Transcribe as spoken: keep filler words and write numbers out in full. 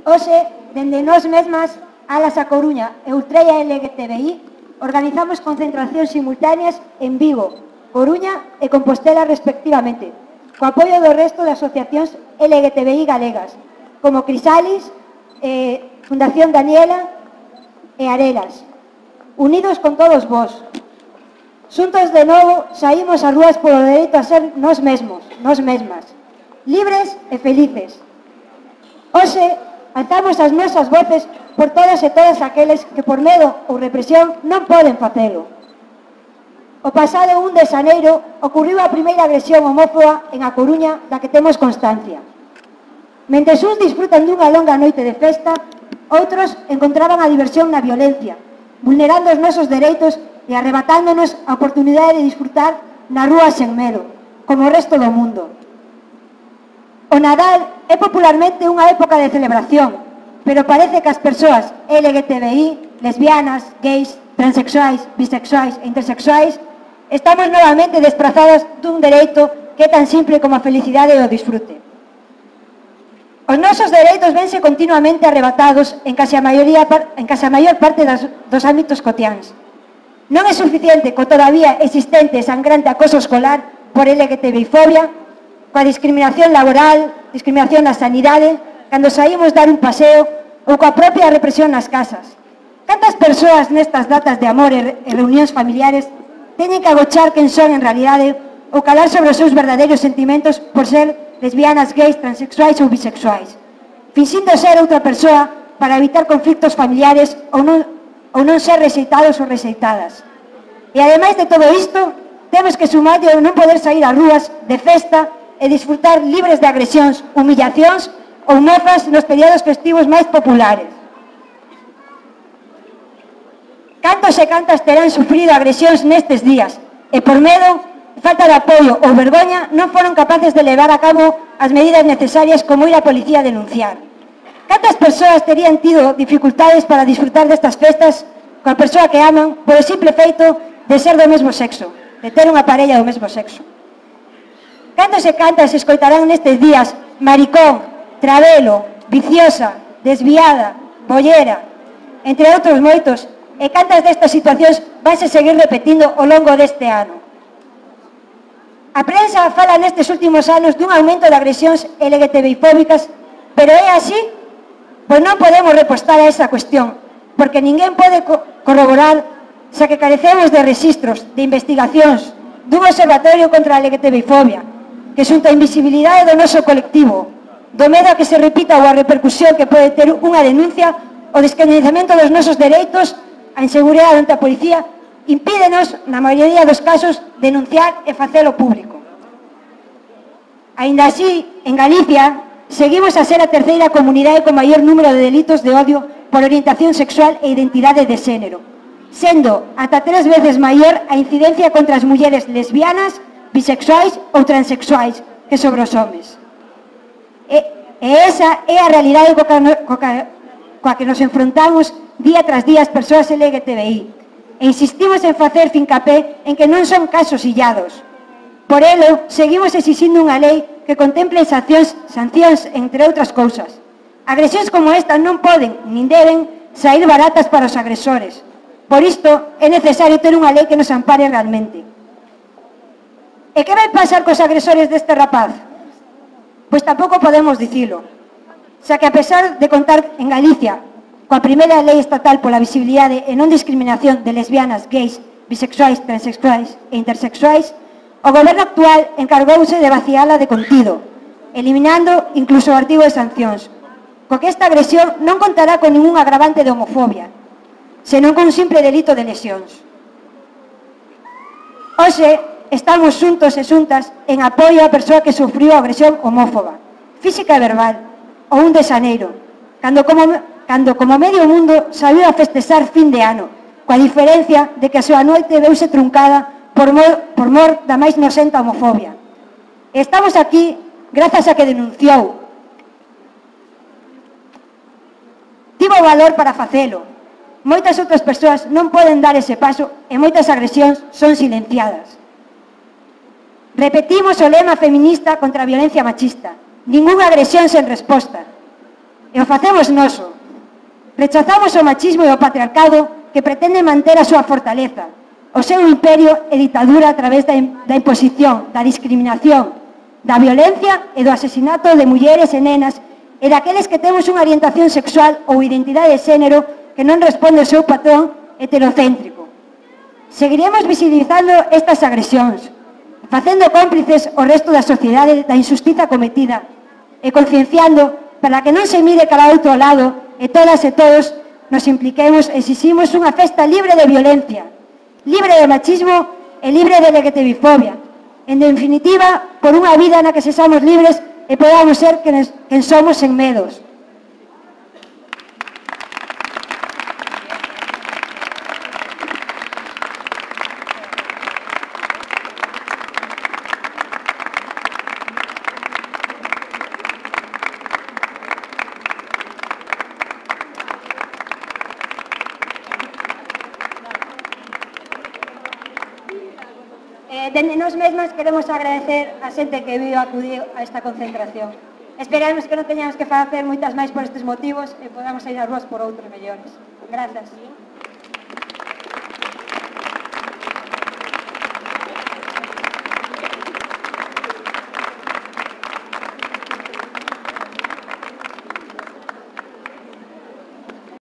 Hoxe, dende nós mesmas, Alas a Coruña e Ultreia L G T B I, organizamos concentracións simultáneas en Vigo, Coruña e Compostela respectivamente, co apoio do resto de asociacións L G T B I galegas, como Crisalis, eh, Fundación Daniela e Arelas, unidos con todos vós. Xuntos de novo saímos ás rúas polo dereito a ser nós mesmos, nós mesmas, libres e felices. Hoxe, alzamos as nosas voces por todas e todas aqueles que por medo ou represión non poden facelo. O pasado un de xaneiro ocurriu a primeira agresión homófoba en A Coruña da que temos constancia. Mentres uns disfrutan dunha longa noite de festa, outros encontraban a diversión na violencia, vulnerando os nosos dereitos e arrebatándonos a oportunidade de disfrutar na rúa sen medo, como o resto do mundo. O Nadal é popularmente unha época de celebración, pero parece que as persoas L G T B I, lesbianas, gays, transexuais, bisexuais e intersexuais estamos novamente desprazadas dun dereito que é tan simple como a felicidade e o disfrute. Os nosos dereitos vense continuamente arrebatados en case a, maioría, en case a maior parte das, dos ámbitos cotiáns. Non é suficiente co todavía existente e sangrante acoso escolar por L G T B I fobia, coa discriminación laboral, discriminación na sanidade, cando saímos dar un paseo ou coa propia represión nas casas. Cantas persoas nestas datas de amor e reunións familiares teñen que agochar quen son en realidade ou calar sobre os seus verdadeiros sentimentos por ser lesbianas, gays, transexuais ou bisexuais, finxindo ser outra persoa para evitar conflictos familiares ou non, ou non ser rexeitados ou rexeitadas. E ademais de todo isto, temos que sumar de non poder sair ás rúas de festa e disfrutar libres de agresións, humillacións ou mofas nos períodos festivos máis populares. Cantos e cantas terán sufrido agresións nestes días e por medo, falta de apoio ou vergoña non foron capaces de levar a cabo as medidas necesarias como ir á policía a denunciar. Cantas persoas terían tido dificultades para disfrutar destas festas coa persoa que aman por o simple feito de ser do mesmo sexo, de ter unha parella do mesmo sexo. Cantos e cantas escoitarán nestes días maricón, travelo, viciosa, desviada, bollera, entre outros moitos, e cantas destas situacións vanse seguir repetindo ao longo deste ano. A prensa fala nestes últimos anos dun aumento de agresións L G T B I fóbicas, pero é así? Pois non podemos repostar a esa cuestión, porque ninguén pode co corroborar xa que carecemos de registros, de investigacións, dun observatorio contra a L G T B I fobia, que xunta a invisibilidade do noso colectivo, do medo a que se repita ou a repercusión que pode ter unha denuncia, o descoñecemento dos nosos dereitos, a inseguridade ante a policía, impídenos, na maioría dos casos, denunciar e facelo público. Aínda así, en Galicia, seguimos a ser a terceira comunidade con maior número de delitos de odio por orientación sexual e identidade de xénero, sendo ata tres veces maior a incidencia contra as mulleres lesbianas, bisexuais ou transexuais que sobre os homes. E, e esa é a realidade coa, coa, coa que nos enfrontamos día tras día as persoas L G T B I. E insistimos en facer fincapé en que non son casos illados. Por elo, seguimos exixindo unha lei que contemple sancións, sancións entre outras cousas. Agresións como esta non poden, nin deben, sair baratas para os agresores. Por isto, é necesario ter unha lei que nos ampare realmente. E que vai pasar cos agresores deste rapaz? Pois tampouco podemos dicilo. Xa que a pesar de contar en Galicia coa primeira lei estatal pola visibilidade e non discriminación de lesbianas, gays, bisexuais, transexuais e intersexuais, o goberno actual encargouse de vaciala de contido, eliminando incluso o artigo de sancións, co que esta agresión non contará con ningún agravante de homofobia, senón con un simple delito de lesións. Hoxe, estamos xuntos e xuntas en apoio á persoa que sufriu a agresión homófoba, física e verbal, o un de xaneiro, cando como, cando como medio mundo saiu a festexar fin de ano, coa diferencia de que a súa noite veuse truncada por mor, por mor da máis nocenta homofobia. E estamos aquí grazas a que denunciou. Tivo valor para facelo. Moitas outras persoas non poden dar ese paso e moitas agresións son silenciadas. Repetimos o lema feminista contra a violencia machista. Ninguna agresión sen resposta. E o facemos noso. Rechazamos o machismo e o patriarcado que pretende manter a súa fortaleza, o seu imperio e ditadura a través da, da imposición, da discriminación, da violencia e do asesinato de mulleres e nenas e daqueles que temos unha orientación sexual ou identidade de xénero que non responde ao seu patrón heterocéntrico. Seguiremos visibilizando estas agresións, facendo cómplices o resto da sociedade da injustiza cometida e concienciando para que non se mire cara ao outro lado e todas e todos nos impliquemos e exiximos unha festa libre de violencia, libre de machismo e libre de L G T B fobia. En definitiva, por unha vida na que sexamos libres e podamos ser quen, quen somos sen medos. Dende nós mesmas queremos agradecer a xente que viu acudir a esta concentración. Esperamos que non teñamos que facer moitas máis por estes motivos e podamos ir ás ruas por outros mellores. Grazas.